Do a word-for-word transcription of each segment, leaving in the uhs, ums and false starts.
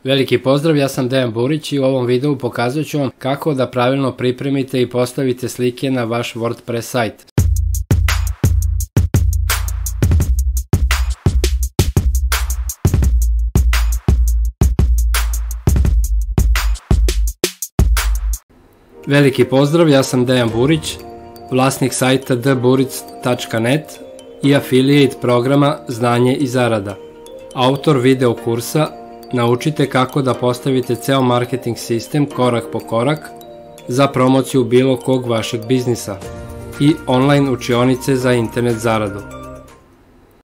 Veliki pozdrav, ja sam Dejan Burić i u ovom videu pokazat ću vam kako da pravilno pripremite i postavite slike na vaš WordPress sajt. Veliki pozdrav, ja sam Dejan Burić, vlasnik sajta d buric tačka net i affiliate programa Znanje i zarada. Autor video kursa Naučite kako da postavite ceo marketing sistem korak po korak za promociju bilo kog vašeg biznisa i online učionice za internet zaradu.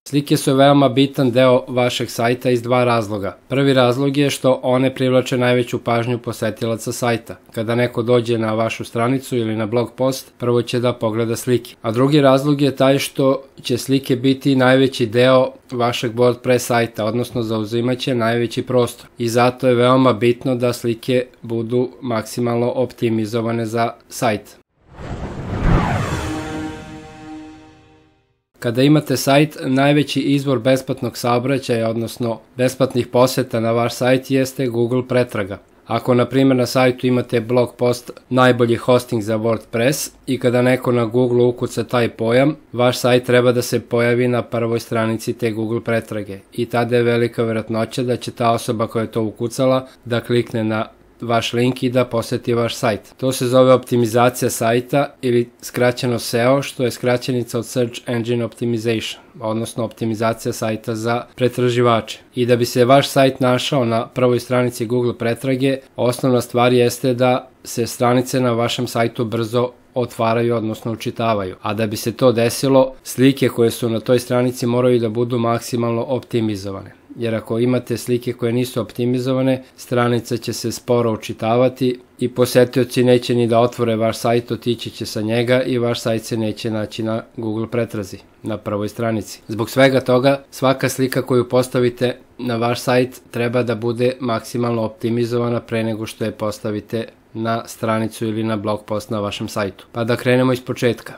Slike su veoma bitan deo vašeg sajta iz dva razloga. Prvi razlog je što one privlače najveću pažnju posetilaca sajta. Kada neko dođe na vašu stranicu ili na blog post, prvo će da pogleda slike. A drugi razlog je taj što će slike biti najveći deo vašeg WordPress sajta, odnosno zauzimaće najveći prostor. I zato je veoma bitno da slike budu maksimalno optimizovane za sajt. Kada imate sajt, najveći izvor besplatnog saobraćaja, odnosno besplatnih poseta na vaš sajt jeste Google pretraga. Ako, na primjer, na sajtu imate blog post najbolji hosting za WordPress i kada neko na Google ukuca taj pojam, vaš sajt treba da se pojavi na prvoj stranici te Google pretrage i tada je velika verovatnoća da će ta osoba koja je to ukucala da klikne na vaš link i da poseti vaš sajt. To se zove optimizacija sajta ili skraćeno S E O, što je skraćenica od Search Engine Optimization, odnosno optimizacija sajta za pretraživače. I da bi se vaš sajt našao na prvoj stranici Google pretrage, osnovna stvar jeste da se stranice na vašem sajtu brzo otvaraju, odnosno učitavaju. A da bi se to desilo, slike koje su na toj stranici moraju da budu maksimalno optimizovane. Jer ako imate slike koje nisu optimizovane, stranica će se sporo učitavati i posetioci neće ni da otvore vaš sajt, otići će sa njega i vaš sajt se neće naći na Google pretrazi, na prvoj stranici. Zbog svega toga, svaka slika koju postavite na vaš sajt treba da bude maksimalno optimizovana pre nego što je postavite na stranicu ili na blog post na vašem sajtu. Pa da krenemo iz početka.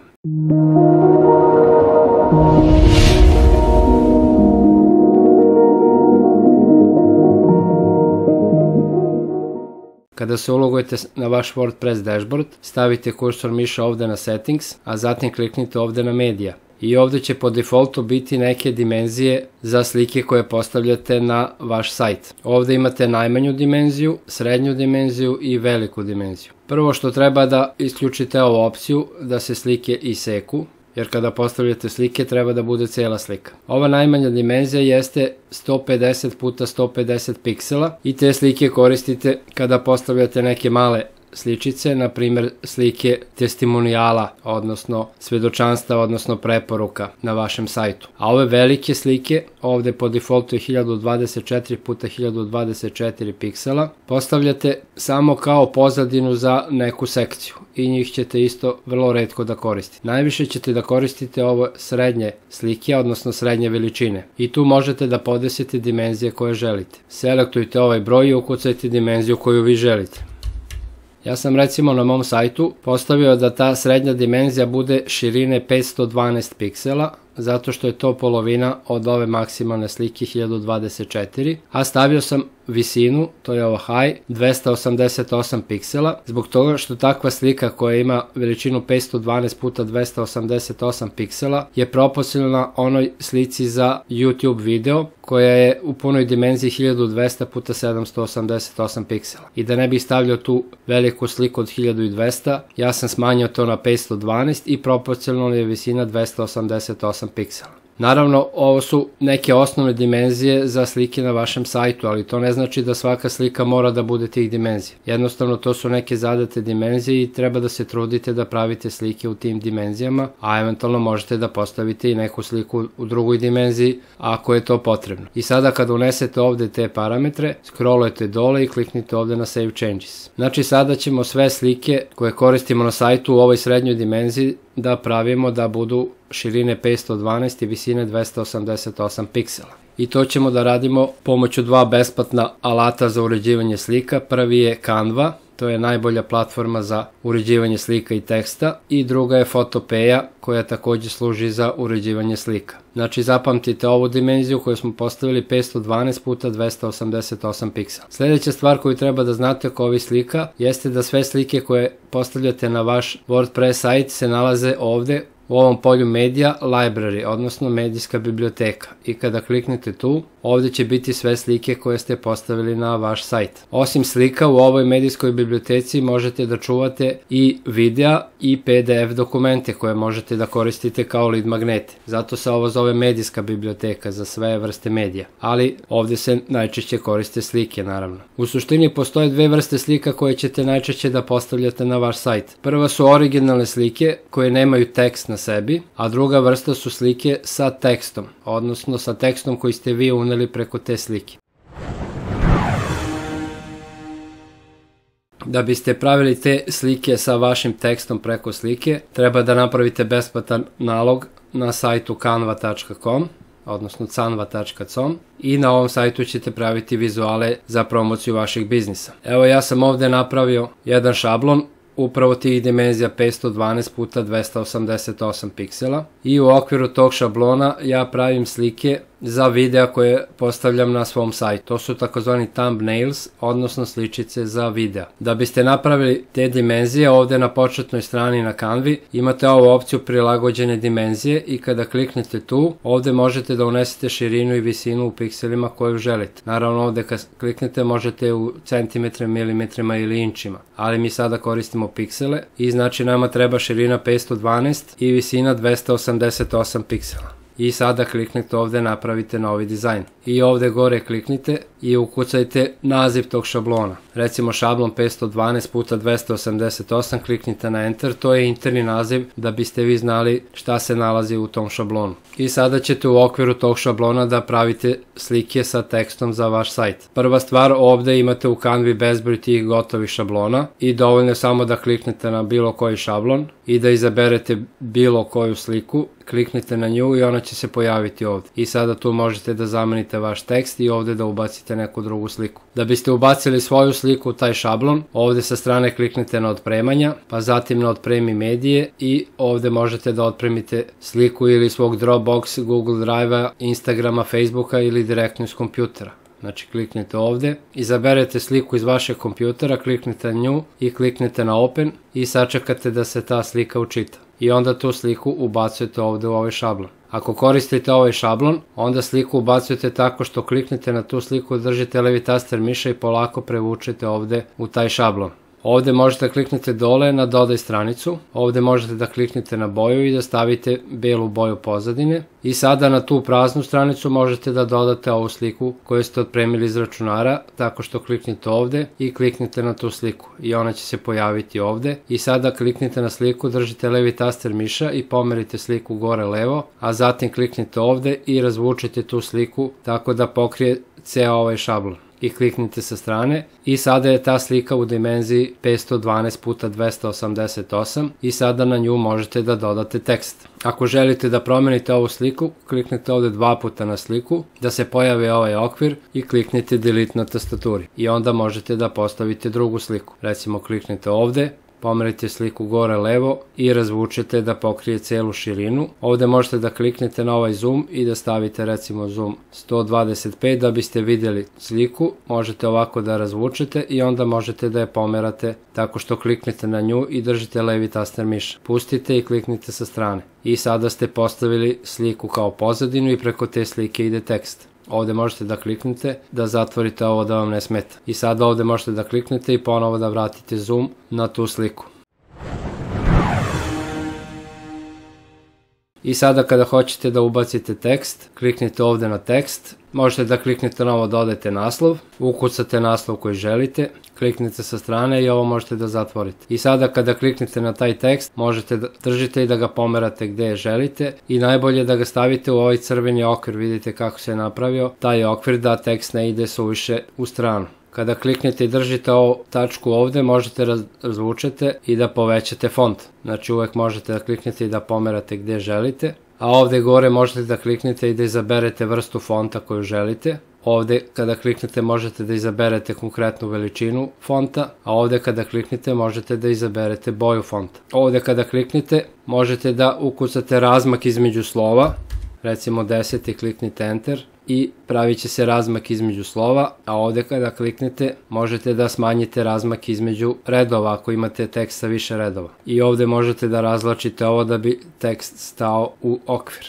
Kada se ulogujete na vaš WordPress dashboard, stavite kursor miša ovde na Settings, a zatim kliknite ovde na Media. I ovde će po defaultu biti neke dimenzije za slike koje postavljate na vaš sajt. Ovde imate najmanju dimenziju, srednju dimenziju i veliku dimenziju. Prvo što treba da isključite ovu opciju da se slike iseku, jer kada postavljate slike treba da bude cela slika. Ova najmanja dimenzija jeste sto pedeset puta sto pedeset piksela i te slike koristite kada postavljate neke male sličice, na primjer slike testimonijala, odnosno svedočanstva, odnosno preporuka na vašem sajtu. A ove velike slike, ovde po defaultu je hiljadu dvadeset četiri puta hiljadu dvadeset četiri piksela, postavljate samo kao pozadinu za neku sekciju i njih ćete isto vrlo retko da koristite. Najviše ćete da koristite ovo srednje slike, odnosno srednje veličine. I tu možete da podesite dimenzije koje želite. Selektujte ovaj broj i ukucajte dimenziju koju vi želite. Ja sam recimo na mom sajtu postavio da ta srednja dimenzija bude širine petsto dvanaest piksela, zato što je to polovina od ove maksimalne slike hiljadu dvadeset četiri, a stavio sam visinu, to je ovo high, dvesta osamdeset osam piksela, zbog toga što takva slika koja ima veličinu petsto dvanaest puta dvesta osamdeset osam piksela je proporcionalna onoj slici za YouTube video koja je u punoj dimenziji hiljadu dvesta puta sedamsto osamdeset osam piksela. I da ne bih stavljao tu veliku sliku od hiljadu dvesta, ja sam smanjio to na petsto dvanaest i proporcionalna je visina dvesta osamdeset osam piksela. Naravno, ovo su neke osnovne dimenzije za slike na vašem sajtu, ali to ne znači da svaka slika mora da bude tih dimenzija. Jednostavno, to su neke zadate dimenzije i treba da se trudite da pravite slike u tim dimenzijama, a eventualno možete da postavite i neku sliku u drugoj dimenziji ako je to potrebno. I sada kada unesete ovde te parametre, scrollujete dole i kliknite ovde na Save Changes. Znači, sada ćemo sve slike koje koristimo na sajtu u ovoj srednjoj dimenziji da pravimo da budu širine petsto dvanaest i visine dvesta osamdeset osam piksela. I to ćemo da radimo pomoću dva besplatna alata za uređivanje slika. Prvi je Canva, to je najbolja platforma za uređivanje slika i teksta, i druga je Fotopeja koja takođe služi za uređivanje slika. Znači zapamtite ovu dimenziju koju smo postavili petsto dvanaest puta dvesta osamdeset osam piksela. Sljedeća stvar koju treba da znate oko ovih slika jeste da sve slike koje postavljate na vaš WordPress sajt se nalaze ovde u ovom polju Media Library, odnosno medijska biblioteka. I kada kliknete tu, ovde će biti sve slike koje ste postavili na vaš sajt. Osim slika, u ovoj medijskoj biblioteci možete da čuvate i videa i P D F dokumente koje možete da koristite kao lead magnete. Zato se ovo zove medijska biblioteka za sve vrste medija. Ali ovde se najčešće koriste slike, naravno. U suštini postoje dve vrste slika koje ćete najčešće da postavljate na vaš sajt. Prva su originalne slike koje nemaju tekst na sebi, a druga vrsta su slike sa tekstom, odnosno sa tekstom koji ste vi uneli preko te slike. Da biste pravili te slike sa vašim tekstom preko slike, treba da napravite besplatan nalog na sajtu canva tačka com, odnosno canva tačka com, i na ovom sajtu ćete praviti vizuale za promociju vašeg biznisa. Evo, ja sam ovde napravio jedan šablon upravo tih dimenzija petsto dvanaest puta dvesta osamdeset osam piksela i u okviru tog šablona ja pravim slike za videa koje postavljam na svom sajtu. To su takozvani thumbnails, odnosno sličice za videa. Da biste napravili te dimenzije, ovde na početnoj strani na Canvi imate ovu opciju prilagođene dimenzije i kada kliknete tu, ovde možete da unesete širinu i visinu u pikselima koju želite. Naravno, ovde kad kliknete možete u centimetrima, milimetrima ili inčima, ali mi sada koristimo piksele i znači nama treba širina petsto dvanaest i visina dvesta osamdeset osam piksela. I sada kliknite ovde, napravite novi dizajn. I ovde gore kliknite i ukucajte naziv tog šablona. Recimo šablon petsto dvanaest puta dvesta osamdeset osam, kliknite na Enter, to je interni naziv da biste vi znali šta se nalazi u tom šablonu. I sada ćete u okviru tog šablona da pravite slike sa tekstom za vaš sajt. Prva stvar, ovde imate u Canvi bezbroj tih gotovih šablona i dovoljno je samo da kliknete na bilo koji šablon i da izaberete bilo koju sliku, kliknite na nju i ona će se pojaviti ovde. I sada tu možete da zamenite vaš tekst i ovde da ubacite neku drugu sliku. Da biste ubacili svoju sliku u taj šablon, ovde sa strane kliknite na otpremanja, pa zatim na otpremi medije i ovde možete da otpremite sliku ili svog Dropbox, Google Drive-a, Instagrama, Facebooka ili direktno iz kompjutera. Znači kliknite ovde, izaberete sliku iz vašeg kompjutera, kliknite na nju i kliknite na Open i sačekate da se ta slika učita. I onda tu sliku ubacujete ovde u ovaj šablon. Ako koristite ovaj šablon, onda sliku ubacujete tako što kliknete na tu sliku, držite levi taster miša i polako prevučete ovde u taj šablon. Ovde možete da kliknete dole na dodaj stranicu, ovde možete da kliknete na boju i da stavite belu boju pozadine i sada na tu praznu stranicu možete da dodate ovu sliku koju ste otpremili iz računara tako što kliknete ovde i kliknete na tu sliku i ona će se pojaviti ovde i sada kliknite na sliku, držite levi taster miša i pomerite sliku gore levo, a zatim kliknite ovde i razvučite tu sliku tako da pokrije ceo ovaj šablon. I kliknite sa strane i sada je ta slika u dimenziji petsto dvanaest puta dvesta osamdeset osam i sada na nju možete da dodate tekst. Ako želite da promenite ovu sliku, kliknite ovde dva puta na sliku, da se pojavi ovaj okvir i kliknite delete na tastaturi. I onda možete da postavite drugu sliku. Recimo kliknite ovde, pomerite sliku gore levo i razvučete da pokrije celu širinu. Ovde možete da kliknete na ovaj zoom i da stavite recimo zoom sto dvadeset pet da biste vidjeli sliku. Možete ovako da razvučete i onda možete da je pomerate tako što kliknete na nju i držite levi taster miša. Pustite i kliknite sa strane. I sada ste postavili sliku kao pozadinu i preko te slike ide tekst. Ovde možete da kliknete da zatvorite ovo da vam ne smeta. I sada ovde možete da kliknete i ponovo da vratite zoom na tu sliku. I sada kada hoćete da ubacite tekst, kliknite ovde na tekst, možete da kliknete na ovo dodajte naslov, ukucate naslov koji želite, kliknite sa strane i ovo možete da zatvorite. I sada kada kliknete na taj tekst, možete da držite i da ga pomerate gde želite i najbolje da ga stavite u ovaj crveni okvir, vidite kako se je napravio, taj okvir da tekst ne ide suviše u stranu. Kada kliknete i držite ovu tačku ovde, možete razvučete i da povećate font. Znači uvek možete da kliknete i da pomerate gde želite. A ovde gore možete da kliknete i da izaberete vrstu fonta koju želite. Ovde kada kliknete možete da izaberete konkretnu veličinu fonta, a ovde kada kliknete možete da izaberete boju fonta. Ovde kada kliknete možete da ukucate razmak između slova recimo deset i kliknite Enter i pravit će se razmak između slova, a ovde kada kliknete možete da smanjite razmak između redova ako imate tekst sa više redova. I ovde možete da razlačite ovo da bi tekst stao u okvir.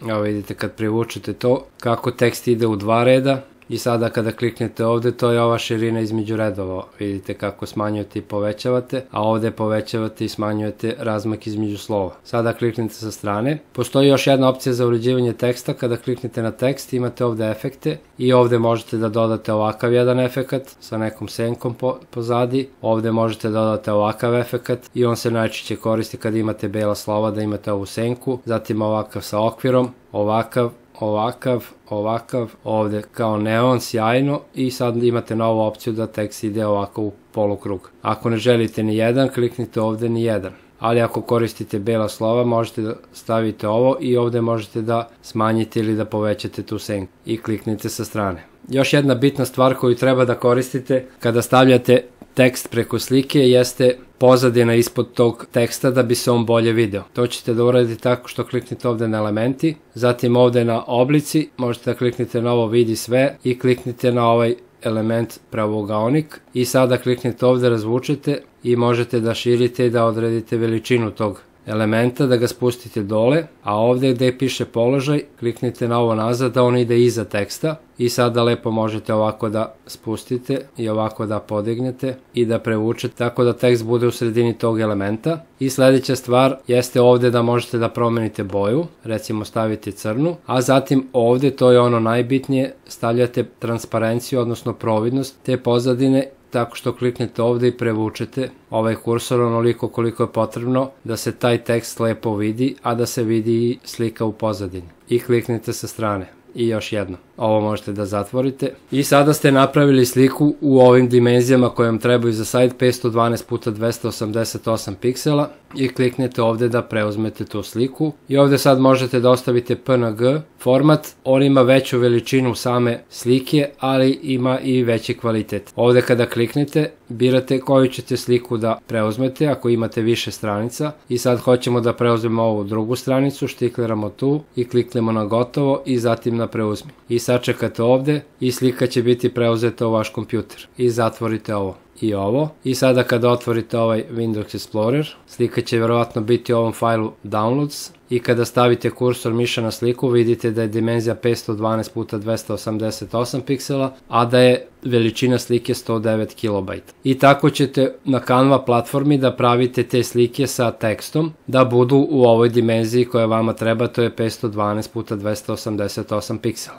Evo vidite kad privučete to kako tekst ide u dva reda. I sada kada kliknete ovde, to je ova širina između redova. Vidite kako smanjujete i povećavate, a ovde povećavate i smanjujete razmak između slova. Sada kliknite sa strane. Postoji još jedna opcija za uređivanje teksta. Kada kliknete na tekst, imate ovde efekte i ovde možete da dodate ovakav jedan efekat sa nekom senkom pozadi. Ovde možete da dodate ovakav efekat i on se najčešće koristi kada imate bela slova da imate ovu senku. Zatim ovakav sa okvirom, ovakav, ovakav, ovakav, ovde kao neon, sjajno i sad imate novu opciju da tekst ide ovako u polukrug. Ako ne želite ni jedan, kliknite ovde ni jedan. Ali ako koristite bela slova, možete da stavite ovo i ovde možete da smanjite ili da povećate tu senku i kliknite sa strane. Još jedna bitna stvar koju treba da koristite kada stavljate tekst preko slike jeste pozadina ispod tog teksta da bi se on bolje video. To ćete da uradite tako što kliknite ovde na elementi, zatim ovde na oblici, možete da kliknite na ovo vidi sve i kliknite na ovaj element pravougaonik i sada kliknite ovde, razvučete i možete da širite i da odredite veličinu tog elementa, da ga spustite dole, a ovde gde piše položaj, kliknite na ovo nazad da on ide iza teksta i sada lepo možete ovako da spustite i ovako da podignete i da prevučete tako da tekst bude u sredini tog elementa. I sledeća stvar jeste ovde da možete da promenite boju, recimo stavite crnu, a zatim ovde, to je ono najbitnije, stavljate transparenciju, odnosno providnost te pozadine tako što kliknete ovde i prevučete ovaj kursor onoliko koliko je potrebno da se taj tekst lepo vidi, a da se vidi i slika u pozadini. I kliknite sa strane. I još jedno. Ovo možete da zatvorite. I sada ste napravili sliku u ovim dimenzijama koje vam trebaju za sajt petsto dvanaest puta dvesta osamdeset osam piksela i kliknete ovde da preuzmete tu sliku. I ovde sad možete da ostavite P N G format. On ima veću veličinu same slike, ali ima i veći kvalitet. Ovde kada kliknete, birate koju ćete sliku da preuzmete ako imate više stranica. I sad hoćemo da preuzmemo ovu drugu stranicu, štikliramo tu i kliknemo na gotovo i zatim na preuzmi. I sačekate ovde i slika će biti preuzeta u vaš kompjuter. I zatvorite ovo i ovo. I sada kada otvorite ovaj Windows Explorer, slika će vjerovatno biti u ovom fajlu Downloads i kada stavite kursor miša na sliku vidite da je dimenzija petsto dvanaest puta dvesta osamdeset osam piksela, a da je veličina slike sto devet kilobajta. I tako ćete na Canva platformi da pravite te slike sa tekstom da budu u ovoj dimenziji koja vama treba, to je petsto dvanaest puta dvesta osamdeset osam piksela.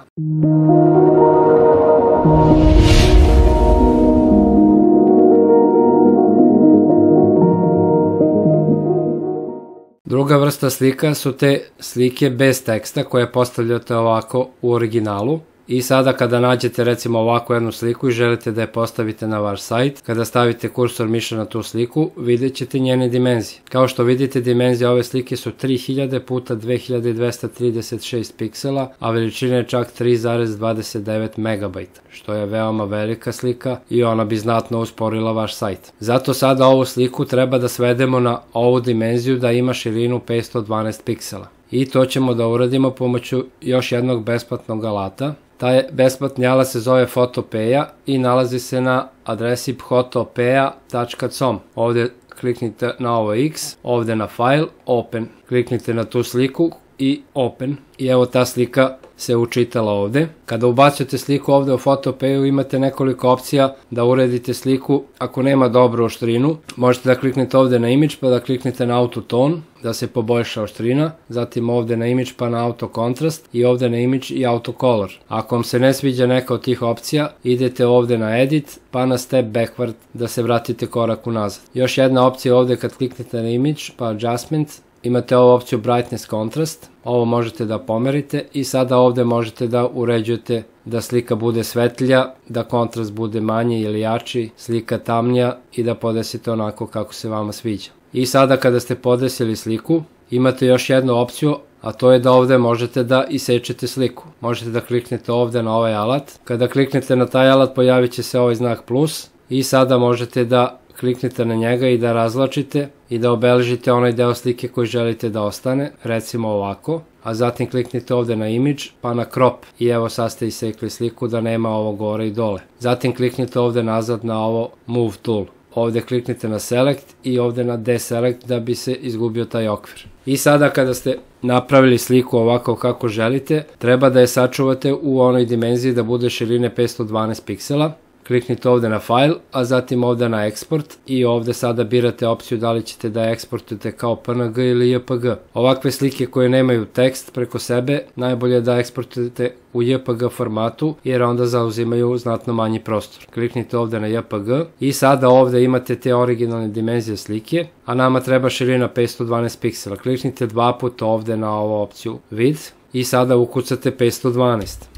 Druga vrsta slika su te slike bez teksta koje postavljate ovako u originalu. I sada kada nađete recimo ovakvu jednu sliku i želite da je postavite na vaš sajt, kada stavite kursor miša na tu sliku, vidjet ćete njene dimenzije. Kao što vidite, dimenzije ove slike su tri hiljade puta dve hiljade dvesta trideset šest piksela, a veličina je čak tri zarez dvadeset devet megabajta, što je veoma velika slika i ona bi znatno usporila vaš sajt. Zato sada ovu sliku treba da svedemo na ovu dimenziju da ima širinu petsto dvanaest piksela. I to ćemo da uradimo pomoću još jednog besplatnog alata. Taj besplatni alat se zove Fotopeja i nalazi se na adresi photopeja tačka com. Ovde kliknite na ovo X, ovde na File, Open. Kliknite na tu sliku i Open. I evo ta slika se učitala ovde. Kada ubacujete sliku ovde u Fotopeju imate nekoliko opcija da uredite sliku. Ako nema dobru oštrinu, možete da kliknete ovde na Image pa da kliknete na Autotone da se poboljša oštrina, zatim ovde na Image pa na Auto Contrast i ovde na Image i Auto Color. Ako vam se ne sviđa neka od tih opcija, idete ovde na Edit pa na Step Backward da se vratite korak unazad. Još jedna opcija ovde kad kliknete na Image pa Adjustment, imate ovu opciju Brightness Contrast, ovo možete da pomerite i sada ovde možete da uređujete da slika bude svetlija, da kontrast bude manji ili jači, slika tamnija i da podesite onako kako se vama sviđa. I sada kada ste podesili sliku, imate još jednu opciju, a to je da ovde možete da isečete sliku. Možete da kliknete ovde na ovaj alat. Kada kliknete na taj alat pojavit će se ovaj znak plus i sada možete da kliknite na njega i da razlačite i da obeležite onaj deo slike koji želite da ostane, recimo ovako, a zatim kliknite ovde na image, pa na crop i evo sad ste isekli sliku da nema ovo gore i dole. Zatim kliknite ovde nazad na ovo move tool. Ovde kliknite na select i ovde na deselect da bi se izgubio taj okvir. I sada kada ste napravili sliku ovako kako želite, treba da je sačuvate u onoj dimenziji da bude širine petsto dvanaest piksela. Kliknite ovde na file, a zatim ovde na export i ovde sada birate opciju da li ćete da eksportujete kao P N G ili J P G. Ovakve slike koje nemaju tekst preko sebe, najbolje je da eksportujete u J P G formatu jer onda zauzimaju znatno manji prostor. Kliknite ovde na J P G i sada ovde imate te originalne dimenzije slike, a nama treba širina petsto dvanaest piksela. Kliknite dva puta ovde na ovu opciju width i sada ukucate petsto dvanaest.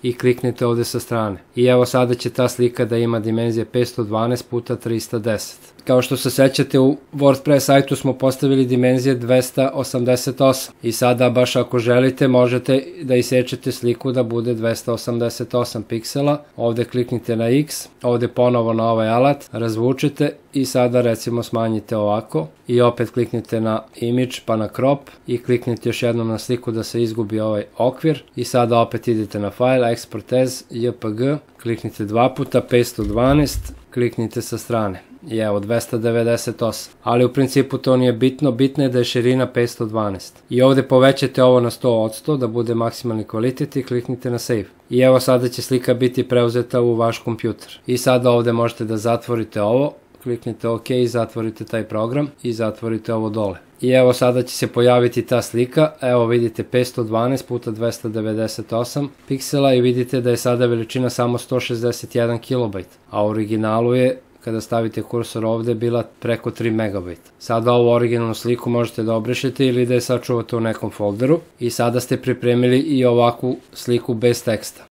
I kliknite ovde sa strane. I evo sada će ta slika da ima dimenzije petsto dvanaest puta trista deset. Kao što se sećate, u WordPress sajtu smo postavili dimenzije dvesta osamdeset osam i sada baš ako želite možete da isečete sliku da bude dvesta osamdeset osam piksela. Ovde kliknite na X, ovde ponovo na ovaj alat, razvučete i sada recimo smanjite ovako i opet kliknite na image pa na crop i kliknite još jednom na sliku da se izgubi ovaj okvir i sada opet idete na file, export as, J P G, kliknite dva puta, petsto dvanaest, kliknite sa strane. I evo dvesta devedeset osam, ali u principu to nije bitno, bitno je da je širina petsto dvanaest. I ovde povećate ovo na sto posto da bude maksimalni kvalitet i kliknite na save. I evo sada će slika biti preuzeta u vaš kompjuter. I sada ovde možete da zatvorite ovo, kliknite OK i zatvorite taj program i zatvorite ovo dole. I evo sada će se pojaviti ta slika, evo vidite petsto dvanaest puta dvesta devedeset osam piksela i vidite da je sada veličina samo sto šezdeset jedan kilobajt, a u originalu je, kada stavite kursor ovde, bila preko tri megabajta. Sada ovu originalnu sliku možete da obrišete ili da je sačuvate u nekom folderu i sada ste pripremili i ovakvu sliku bez teksta.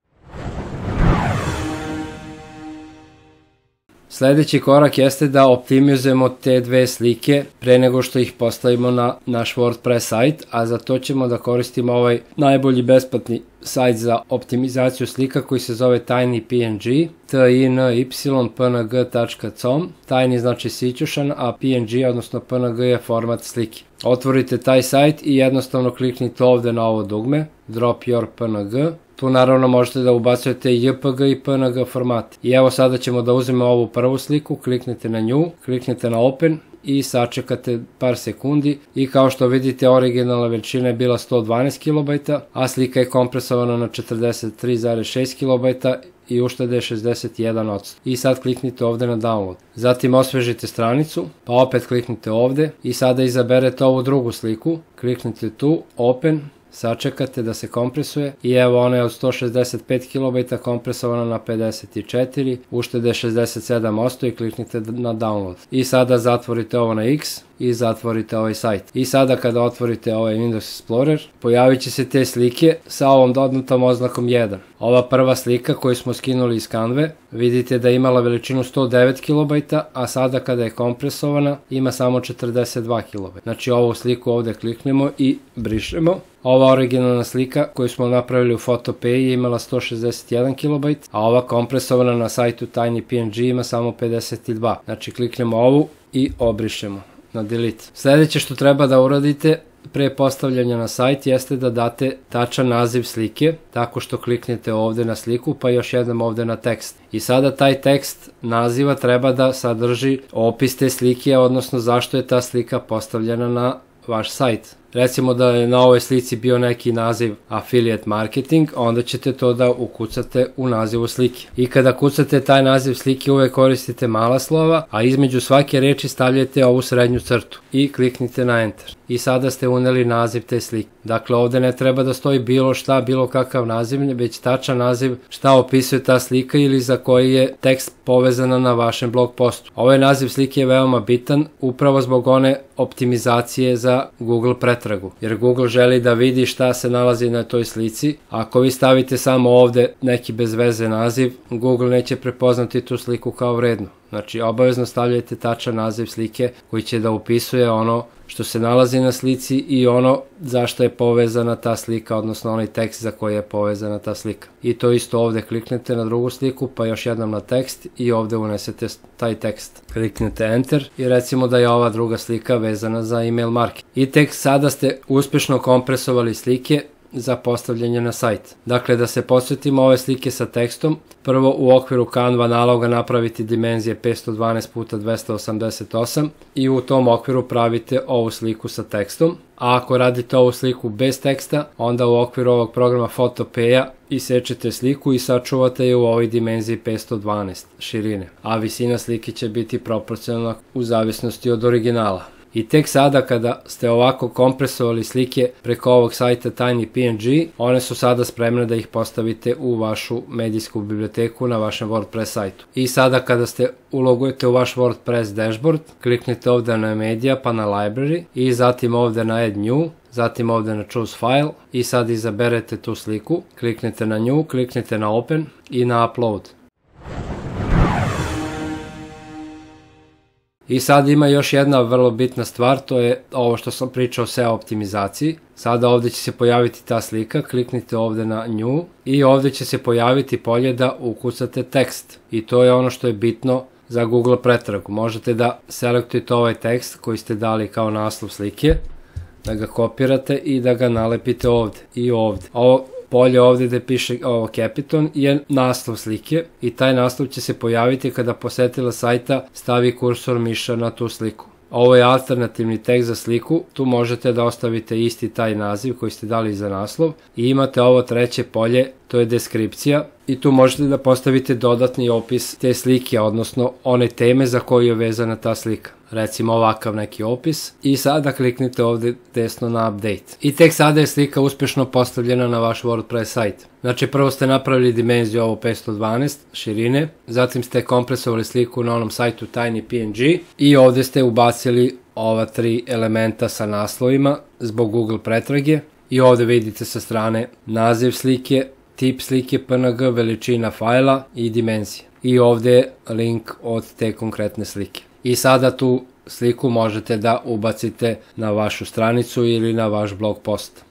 Sledeći korak jeste da optimizujemo te dve slike pre nego što ih postavimo na naš WordPress sajt, a za to ćemo da koristimo ovaj najbolji besplatni sajt za optimizaciju slika koji se zove TinyPNG, t i n y p n g tačka com. Tiny znači sićušan, a P N G odnosno P N G je format slike. Otvorite taj sajt i jednostavno kliknite ovde na ovo dugme, Drop your P N G. Tu naravno možete da ubacujete J P G i P N G format. I evo sada ćemo da uzmemo ovu prvu sliku, kliknite na nju, kliknite na Open i sačekate par sekundi i kao što vidite originalna veličina je bila sto dvanaest kilobajta, a slika je kompresovana na četrdeset tri zarez šest kilobajta i uštede je šezdeset jedan posto. I sad kliknite ovde na download. Zatim osvežite stranicu, pa opet kliknite ovde i sada izaberete ovu drugu sliku, kliknite tu, Open, sačekate da se kompresuje i evo ona je od sto šezdeset pet kilobajta kompresovana na pedeset četiri, uštede šezdeset sedam posto i kliknite na download. I sada zatvorite ovo na X i zatvorite ovaj sajt. I sada kada otvorite ovaj Windows Explorer, pojavit će se te slike sa ovom dodatom oznakom jedan. Ova prva slika koju smo skinuli iz Canve, vidite da je imala veličinu sto devet kilobajta, a sada kada je kompresovana ima samo četrdeset dva kilobajta. Znači ovu sliku ovde kliknemo i brišemo. Ova originalna slika koju smo napravili u Photopea je imala sto šezdeset jedan kilobajt, a ova kompresovana na sajtu TinyPNG ima samo pedeset dva. Znači kliknemo ovu i obrišemo na delete. Sledeće što treba da uradite pre postavljanja na sajt jeste da date tačan naziv slike, tako što kliknete ovde na sliku pa još jednom ovde na tekst. I sada taj tekst naziva treba da sadrži opis te slike, odnosno zašto je ta slika postavljena na vaš sajt. Recimo da je na ovoj slici bio neki naziv affiliate marketing, onda ćete to da ukucate u nazivu slike. I kada kucate taj naziv slike uvek koristite mala slova, a između svake reči stavljate ovu srednju crtu i kliknite na enter. I sada ste uneli naziv te slike. Dakle, ovde ne treba da stoji bilo šta, bilo kakav naziv, već tačan naziv šta opisuje ta slika ili za koji je tekst povezana na vašem blog postu. Ovaj naziv slike je veoma bitan upravo zbog one optimizacije za Google pretragu, jer Google želi da vidi šta se nalazi na toj slici. Ako vi stavite samo ovde neki bez veze naziv, Google neće prepoznati tu sliku kao vrednu. Znači, obavezno stavljajte tačan naziv slike koji će da upisuje ono što se nalazi na slici i ono zašto je povezana ta slika, odnosno onaj tekst za koji je povezana ta slika. I to isto ovde kliknete na drugu sliku, pa još jednom na tekst i ovde unesete taj tekst. Kliknete Enter i recimo da je ova druga slika vezana za email marketing. I tek sada ste uspešno kompresovali slike za postavljanje na sajt. Dakle, da se posvetimo ove slike sa tekstom, prvo u okviru Canva naloga napraviti dimenzije petsto dvanaest puta dvesta osamdeset osam i u tom okviru pravite ovu sliku sa tekstom. A ako radite ovu sliku bez teksta, onda u okviru ovog programa Photopeya isečete sliku i sačuvate je u ovoj dimenziji petsto dvanaest širine, a visina slike će biti proporcionalna u zavisnosti od originala. I tek sada kada ste ovako kompresovali slike preko ovog sajta TinyPNG, one su sada spremne da ih postavite u vašu medijsku biblioteku na vašem WordPress sajtu. I sada kada ste ulogujete u vaš WordPress dashboard, kliknite ovde na Media pa na Library i zatim ovde na Add New, zatim ovde na Choose File i sad izaberete tu sliku, kliknete na New, kliknete na Open i na Upload. I sad ima još jedna vrlo bitna stvar, to je ovo što sam pričao o S E O optimizaciji. Sada ovde će se pojaviti ta slika, kliknite ovde na New i ovde će se pojaviti polje da ukucate tekst. I to je ono što je bitno za Google pretragu. Možete da selektujete ovaj tekst koji ste dali kao naslov slike, da ga kopirate i da ga nalepite ovde i ovde. Ovo polje ovde gde piše ovo Capiton je naslov slike i taj naslov će se pojaviti kada posetilac sajta stavi kursor miša na tu sliku. Ovo je alternativni tekst za sliku, tu možete da ostavite isti taj naziv koji ste dali za naslov i imate ovo treće polje, to je deskripcija i tu možete da postavite dodatni opis te slike, odnosno one teme za koju je vezana ta slika. Recimo ovakav neki opis i sada kliknite ovde desno na Update. I tek sada je slika uspešno postavljena na vaš WordPress sajt. Znači prvo ste napravili dimenziju ovo petsto dvanaest širine, zatim ste kompresovali sliku na onom sajtu TinyPNG i ovde ste ubacili ova tri elementa sa naslovima zbog Google pretrage i ovde vidite sa strane naziv slike, tip slike P N G, veličina fajla i dimenzija. I ovde je link od te konkretne slike. I sada tu sliku možete da ubacite na vašu stranicu ili na vaš blog post.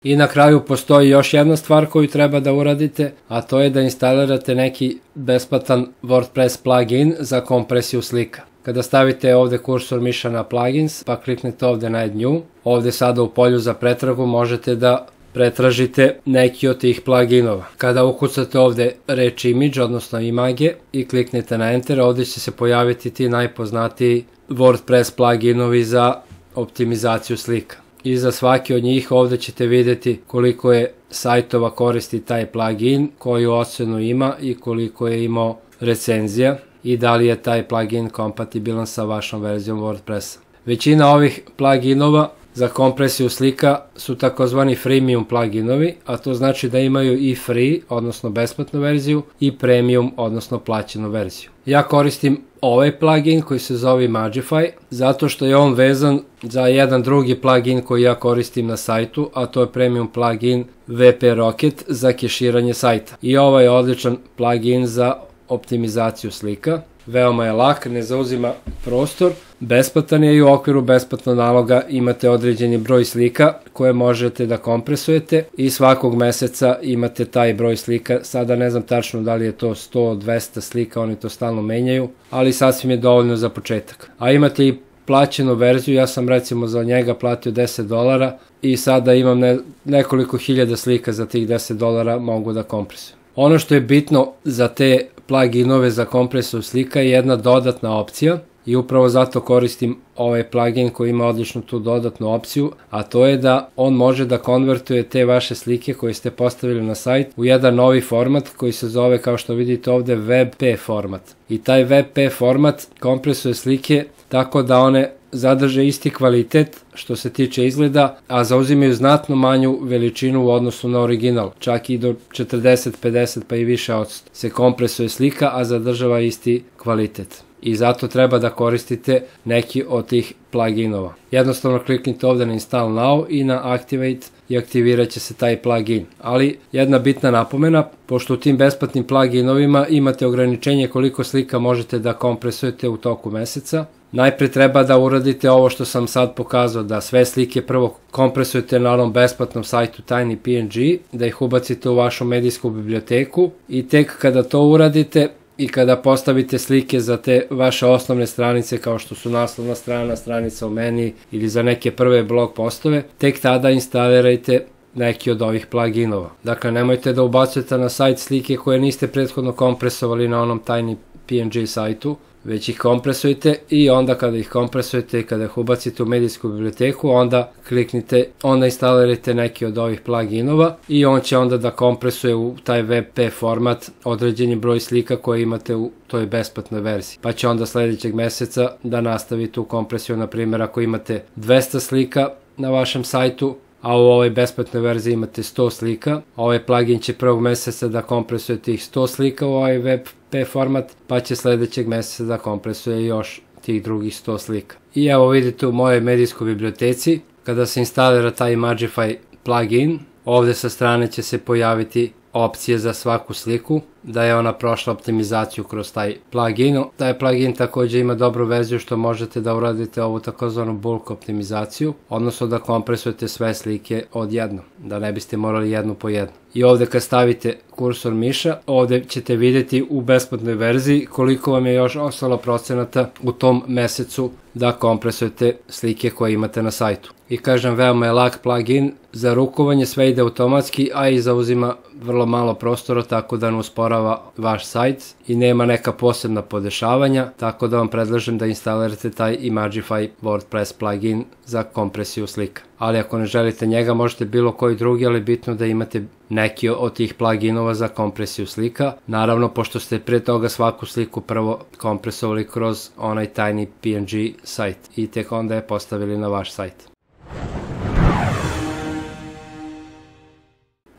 I na kraju postoji još jedna stvar koju treba da uradite, a to je da instalirate neki besplatan WordPress plugin za kompresiju slika. Kada stavite ovde kursor miša na plugins, pa kliknete ovde na Add New, ovde sada u polju za pretragu možete da pretražite neki od tih pluginova. Kada ukucate ovde reč image, odnosno image, i kliknete na Enter, ovde će se pojaviti ti najpoznatiji WordPress pluginovi za optimizaciju slika. I za svaki od njih ovde ćete vidjeti koliko je sajtova koristi taj plugin, koju ocenu ima i koliko je imao recenzija i da li je taj plugin kompatibilan sa vašom verzijom WordPressa. Većina ovih pluginova za kompresiju slika su takozvani freemium pluginovi, a to znači da imaju i free, odnosno besplatnu verziju, i premium, odnosno plaćenu verziju. Ja koristim ovaj plugin koji se zove Magify, zato što je on vezan za jedan drugi plugin koji ja koristim na sajtu, a to je premium plugin V P Rocket za keširanje sajta. I ovaj je odličan plugin za optimizaciju slika. Veoma je lak, ne zauzima prostor, besplatan je i u okviru besplatnog naloga imate određeni broj slika koje možete da kompresujete i svakog meseca imate taj broj slika. Sada ne znam tačno da li je to sto do dvesta slika, oni to stalno menjaju, ali sasvim je dovoljno za početak. A imate i plaćenu verziju, ja sam recimo za njega platio deset dolara i sada imam ne, nekoliko hiljada slika za tih deset dolara mogu da kompresujem. Ono što je bitno za te pluginove za kompresiju slika je jedna dodatna opcija i upravo zato koristim ovaj plugin koji ima odličnu tu dodatnu opciju, a to je da on može da konvertuje te vaše slike koje ste postavili na sajt u jedan novi format koji se zove, kao što vidite ovde, W P P format. I taj W P P format kompresuje slike tako da one zadrže isti kvalitet što se tiče izgleda, a zauzimaju znatno manju veličinu u odnosu na original. Čak i do četrdeset, pedeset pa i više odsto se kompresuje slika, a zadržava isti kvalitet. i zato treba da koristite neki od tih pluginova. Jednostavno kliknite ovde na Install Now i na Activate i aktivirat će se taj plugin. Ali jedna bitna napomena, pošto u tim besplatnim pluginovima imate ograničenje koliko slika možete da kompresujete u toku meseca, najpre treba da uradite ovo što sam sad pokazao, da sve slike prvo kompresujete na onom besplatnom sajtu TinyPNG, da ih ubacite u vašu medijsku biblioteku i tek kada to uradite i kada postavite slike za te vaše osnovne stranice kao što su naslovna strana, stranica u meni ili za neke prve blog postove, tek tada instalirajte neki od ovih pluginova. Dakle, nemojte da ubacujete na sajt slike koje niste prethodno kompresovali na onom TinyPNG sajtu, već ih kompresujete i onda kada ih kompresujete i kada ih ubacite u medijsku biblioteku, onda kliknite, onda instalirajte neki od ovih pluginova i on će onda da kompresuje u taj ve pe format određeni broj slika koje imate u toj besplatnoj verziji. Pa će onda sledećeg meseca da nastavi tu kompresiju, na primjer ako imate dvesta slika na vašem sajtu, a u ovoj besplatnoj verziji imate sto slika, ovaj plugin će prvog meseca da kompresuje tih sto slika u ovaj ve pe format, pa će sledećeg meseca da kompresuje još tih drugih sto slika. I evo vidite u mojoj medijskoj biblioteci, kada se instalira taj Imagify plugin, ovde sa strane će se pojaviti opcije za svaku sliku, da je ona prošla optimizaciju kroz taj plugin. Taj plugin takođe ima dobru verziju što možete da uradite ovu takozvanu bulk optimizaciju, odnosno da kompresujete sve slike odjednom, da ne biste morali jednu po jednu. I ovde kad stavite kursor miša, ovde ćete vidjeti u besplatnoj verziji koliko vam je još ostalo procenata u tom mesecu da kompresujete slike koje imate na sajtu. I kažem, veoma je lak plugin, za rukovanje sve ide automatski, a i zauzima vrlo malo prostora, tako da ne usporava vaš sajt i nema neka posebna podešavanja, tako da vam predlažem da instalirate taj Imagify WordPress plugin za kompresiju slika. Ali ako ne želite njega, možete bilo koji drugi, ali bitno da imate neki od tih pluginova za kompresiju slika. Naravno, pošto ste pre toga svaku sliku prvo kompresovali kroz onaj TinyPNG sajt i tek onda je postavili na vaš sajt.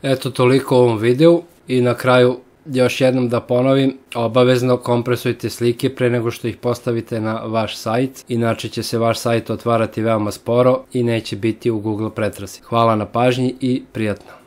Eto toliko u ovom videu i na kraju još jednom da ponovim, obavezno kompresujte slike pre nego što ih postavite na vaš sajt, inače će se vaš sajt otvarati veoma sporo i neće biti u Google pretrazi. Hvala na pažnji i prijatno!